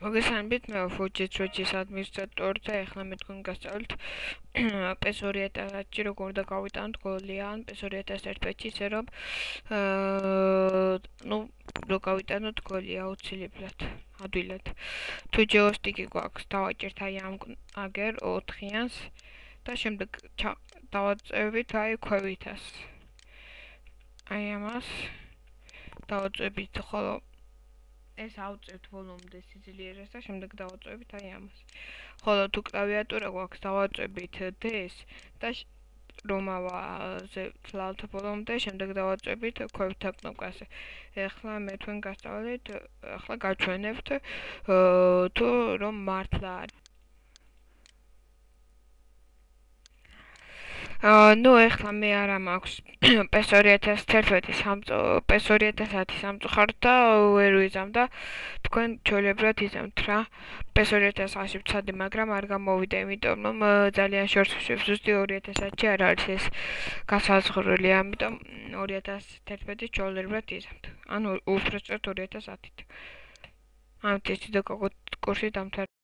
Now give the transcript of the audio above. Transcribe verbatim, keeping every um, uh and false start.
მოგესალმებით, მე Fujitsu Switch-ის ადმინისტრატორი და ეხლა მე თქვენ გასწავლით P S two thousand one-ში როგორ და გავიტანოთ გოლი ან P S two thousand one patch-ში, ისე რომ აა ნუ რო გავიტანოთ გოლი აუცილებლად, ადვილად. თუ joystick-ი გვაქვს, დავაჭერთ აი ამ აგერ ოთხიანს და შემდეგ დავაწევით აი ქვევითას. აი ამას დავაწევით, ხოლო ეს ავწევთ ბოლომდე სიძლიერეს და შემდეგ დავაწევით აი ამას. ხოლო თუ კლავიატურა გვაქვს, დავაწევით D-ს და რომ ავაზე ვთვალთ ბოლომდე, შემდეგ დავაწევით ქვევითა კნოპკაზე. ეხლა მე თქვენ გასწავლეთ, ეხლა გაჩვენებთ თუ რომ მართლა არის. აა ნუ ეხლა მე არა მაქვს P S two thousand one P S two thousand one სამწუხაროდ და ვერ ვიზამ და თქვენ ჩვეულებრივად იზამთ რა. P S two thousand one-ში ვცადე, მაგრამ არ გამოვიდა, იმიტომ რომ ძალიან შორს ვშვებ, ზუსტი two thousand one-ში არ არის ეს გასაზღვრული, ამიტომ two thousand one-ში ჩვეულებრივად იზამთ. ანუ უბრალოდ two thousand one-ით. ამით ეს ვიდეო კურსი დამთავრდა.